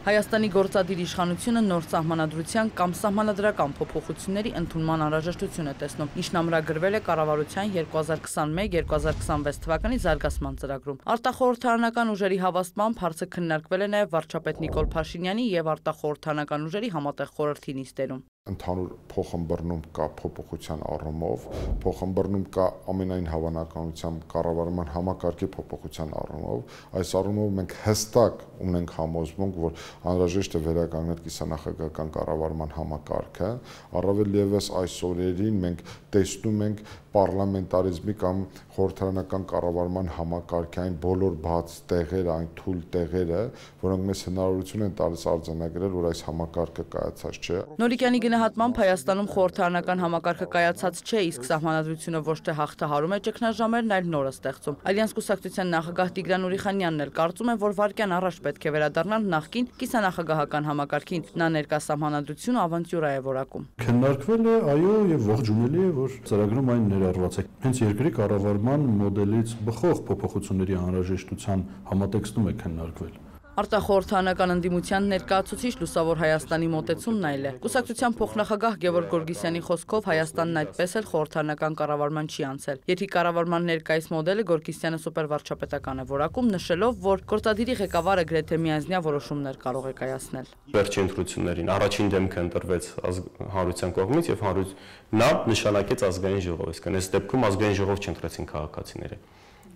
Հայաստանի գործադիր իշխանությունը նոր սահմանադրության կամ սահմանադրական փոփոխությունների ընդունման անհրաժեշտություն է տեսնում, ինչն ամրագրվել է կառավարության 2021-2026 թվականի զարգացման ծրագրում։ Արտախորհրդարանական ուժերի հավաստմամբ հարցը քննարկվել է նաև վարչապետ Նիկոլ Փաշինյանի եւ արտախորհրդարանական ուժերի համատեղ խորհրդի նիստերում։ Ընդհանուր փոխըմբռնում կա փոփոխության առումով, փոխըմբռնում կա ամենայն հավանականությամբ կառավարման համակարգի փոփոխության առումով, այս առումով մենք հստակ ունենք համոզմունք, որ անհրաժեշտ է վերականգնել կիսանախագահական կառավարման համակարգը, առավել ևս այս օրերին մենք տեսնում ենք պարլամենտարիզմի կամ խորհրդարանական կառավարման համակարգային բոլոր բաց տեղերը, այն թույլ տեղերը, որոնք մեզ հնարավորություն են տալիս արձանագրել, որ այս համակարգը կայացած չէ։ Նորիկյանի գնահատմամբ Հայաստանում խորհրդարանական համակարգը կայացած չէ, իսկ սահմանադրությունը ոչ թե հաղթահարում է ճգնաժամերն, այլ նորը ստեղծում։ Ալյանս կուսակցության նախագահ Տիգրան Ուրիխանյանն էլ կարծում է, որ վայրկյան առաջ պետք է վերադառնալ նախկին կիսանախագահական համակարգին։ Նա ներկա սահմանադրությունը ավանտյուրա է որակում։ Քննարկվել է, այո, եւ ողջունելի է, որ ծրագրում այն ներառված է։ Հենց երկրի կառավարման մոդելից բխող փոփոխությունների անհրաժեշտության համատեքստում է քննարկվել։ Արտախորհրդարանական ընդդիմության ներկայացուցիչ Լուսավոր Հայաստանի մոտեցումն այլ է։ Կուսակցության փոխնախագահ Գևորգ Գորգիսյանի խոսքով Հայաստանն այդպես էլ խորհրդարանական կառավարման չի անցել։ Եթե կառավարման ներկայիս մոդելը Գորգիսյանը սուպերվարչապետական է որակում, նշելով, որ գործադիրի ղեկավարը գրեթե միանձնյա որոշումներ կարող է կայացնել։ Վերջին ընտրություններին առաջին դեմքը ընտրվեց հանրության կողմից եւ նա նշանակեց ազգային ժողով, այսինքն այս դեպքում ազգային ժողով չընտրեցին քաղաքացիները։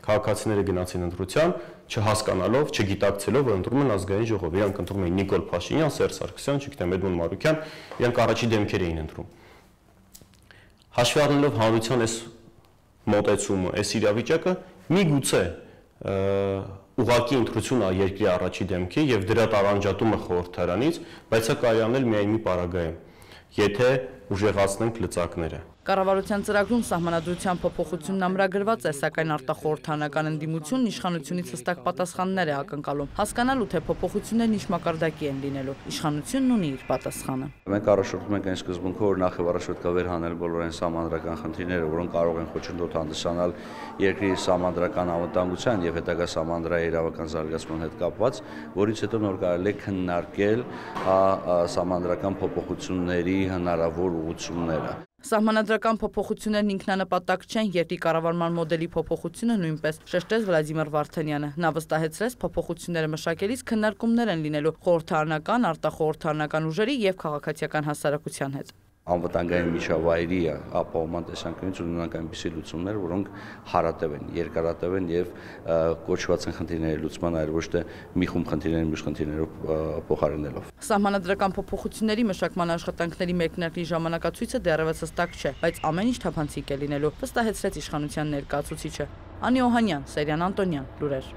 Քաղաքացիները գնացին ընտրության, չհասկանալով, չգիտակցելով, որ ընտրում են ազգային ժողով։ Իրանք ընտրում էին Նիկոլ Փաշինյան, Սերժ Սարգսյան, չգիտեմ, Էդմոն Մարուկյան, իրանք առաջի դեմքեր էին ընտրում։ Հաշվի առնելով հանրության այս մոտեցումը, այս իրավիճակը, միգուցե ուղղակի ընտրություն է երկրի առաջի դեմքի եւ դրա տարանջատումը խորհրդարանից, բայց սա կարելի անել միայն մի պարագայում, եթե ուժեղացնենք լծակները։ Կառավարության ծրագրում սահմանադրության փոփոխությունն ամրագրված է, սակայն արտախորհրդարանական ընդդիմությունն իշխանությունից հստակ պատասխաններ է ակնկալում։ Հասկանալու թե փոփոխություններն ինչ մակարդակի են լինելու։ Իշխանությունն ունի իր պատասխանը։ Մենք առաջորդում ենք այն սկզբունքով, որ նախ եւ առաջ պետք է վերհանել բոլոր այն սահմանադրական խնդիրները, որոնք կարող են խոչընդոտ հանդիսանալ երկրի սահմանադրական անվտանգության եւ հետագա սահմանադրաիրավական զարգացման հետ կապված, որից հետո նոր կարելի է քննարկել սահմանադրական փոփոխությունների հնարավոր ուղղությունները։ Սահմանադրական փոփոխություններն ինքնանպատակ չեն, երկրի կառավարման մոդելի փոփոխությունը նույնպես, շեշտեց Վլադիմիր Վարդանյանը։ Նա վստահեցրեց, փոփոխությունները մշակելիս քննարկումներ են լինելու խորհրդարանական, արտախորհրդարանական ուժերի եւ քաղաքացիական հասարակության հետ։ Անվտանգային միջավայրի ապահովման տեսանկյունից ունենանք այնպիսի լուծումներ, որոնք հարատև են, երկարատև են եւ կոչված են խնդիրների լուծման, այլ ոչ թե մի խումբ խնդիրների մյուս խնդիրներով փոխարինելով։ Սահմանադրական փոփոխությունների մշակման աշխատանքների մեկնարկի ժամանակացույցը դեռևս հստակ չէ, բայց ամեն ինչ թափանցիկ է լինելու, վստահեցրեց իշխանության ներկայացուցիչը։ Անի Օհանյան, Սերյան Անտոնյան, լուրեր։